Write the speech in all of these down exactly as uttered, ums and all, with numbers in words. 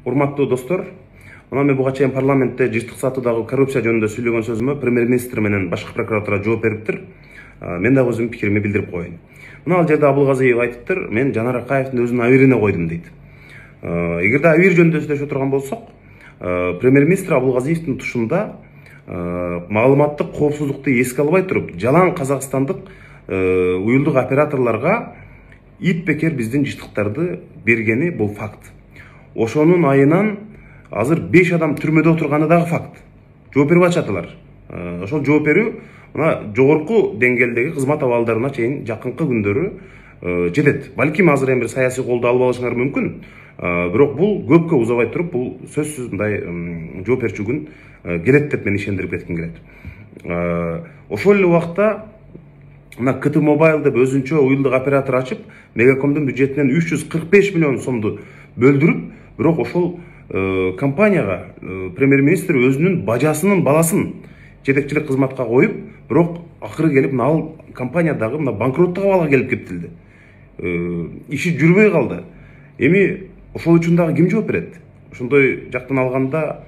Урматтуу достор, мына мен буга чейин парламентте жыштык сатуудагы коррупция жөнүндө сүйлөгөн сөзүмө премьер-министр менен башкы прокуратура жооп бериптир. Мен дагы өзүмдүн пикиримди билдирип коеюн. Мына ал жерде Абылгазиев айтыптыр, мен Жанар Акаевдин өзүнүн абийирине койдум дейт. Эгерде абийир жөнүндө сүйлөшө турган болсок, премьер-министр Абылгазиевдин тушунда маалыматтык коопсуздукту эске албай туруп, жалаң казакстандык уюлдук операторлорго ит бекер биздин жыштыктарды бергени бул факт. Ошонун айынан азыр беш адам түрмөдө отурганы дагы факт. Жооп берип атышатылар. Ошол жооп берүү мына жогорку деңгээлдеги кызмат абалдарына чейин жакынкы күндөрү жетет. Балким азыр эми бир саясий колдоо алып алышыңар мүмкүн. Бирок бул көпкө узабай туруп, бул сөзсүз мындай жооп берчү күн келет деп мен ишендирип кетким келет. Ошол эле убакта мына КТ Mobile деп өзүнчө уюлдук оператор ачып, Мегакомдун бюджетинен үч жүз кырк беш миллион сомду бөлдүрүп, бирок ошол компанияга премьер-министр өзүнүн бажасынын баласын жетекчилик кызматка коюп, бирок акыры келип ал компания дагы мына банкроттук абалга келип кептилди. Иши жүрбөй калды. Эми ошол үчүн дагы ким жооп берет? Ошондой жактан алганда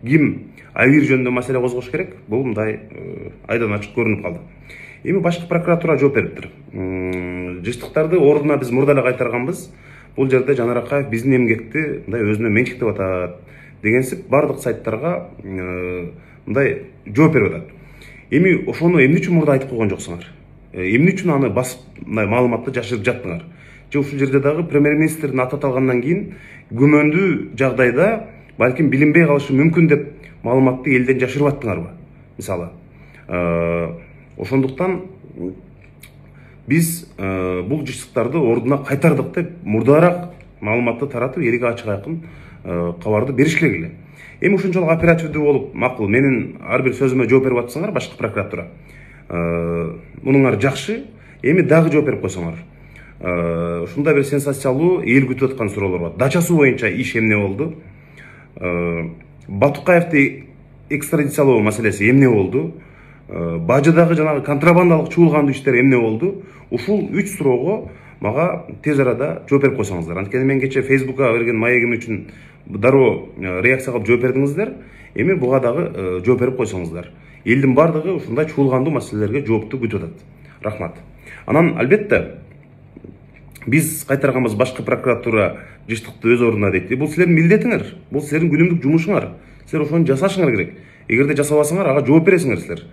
ким абийир жөнүндө маселе козгош керек? Бул мындай айдан ачык көрүнүп калды. Эми башкы прокуратура жооп бериптир. Жыштыктарды ордуна биз мурда эле кайтарганбыз. Бул жерде Жанар Акаев биздин эмгекти мындай өзүнө менчиктеп атат дегенсип бардык сайттарга мындай жооп берип атат. Эми ошону эмне үчүн мурда айтып койгон жоксуңар? Эмне үчүн аны басып мындай маалыматты жашырып жаттыңар? Же ушул жерде дагы премьер-министрдин аты аталгандан кийин күмөндүү жагдайда балким билинбей калышы мүмкүн деп маалыматты элден жашырып аттыңарбы? Мисалы, ошондуктан биз бул жыштыктарды ордуна кайтардык деп мурдараак маалыматты таратып, элге ачык айкын кабарды бериш керек эле. Эми ушунчалык оперативдүү болуп, макул, менин ар бир сөзүмө жооп берип атсаңар башкы прокуратура. Мунуңар жакшы, эми дагы жооп берип койсоңор. Ушундай бир сенсациялуу эл күтүп аткан суроолор бар. Дача суу боюнча иш эмне болду? Батукаевди экстрадициялоо маселеси эмне болду? Бажыдагы жанагы контрабандалык чуулгандуу иштер эмне болду? Ушул үч суроого мага тез арада жооп берип койсоңуздар. Анткени мен кече Фейсбукка берген маегим үчүн дароо реакция кылып жооп бердиңиздер. Эми буга дагы жооп берип койсоңуздар. Элдин бардыгы ушундай чуулгандуу маселелерге жоопту күтүп атат. Рахмат. Анан албетте биз кайтарганбыз башкы прокуратура жыштыкты өз ордуна дейт. Бул силердин милдетиңер, бул силердин күнүмдүк жумушуңар. Силер ошону жасашыңар керек. Эгерде жасабасаңар, ага жооп бересиңер силер.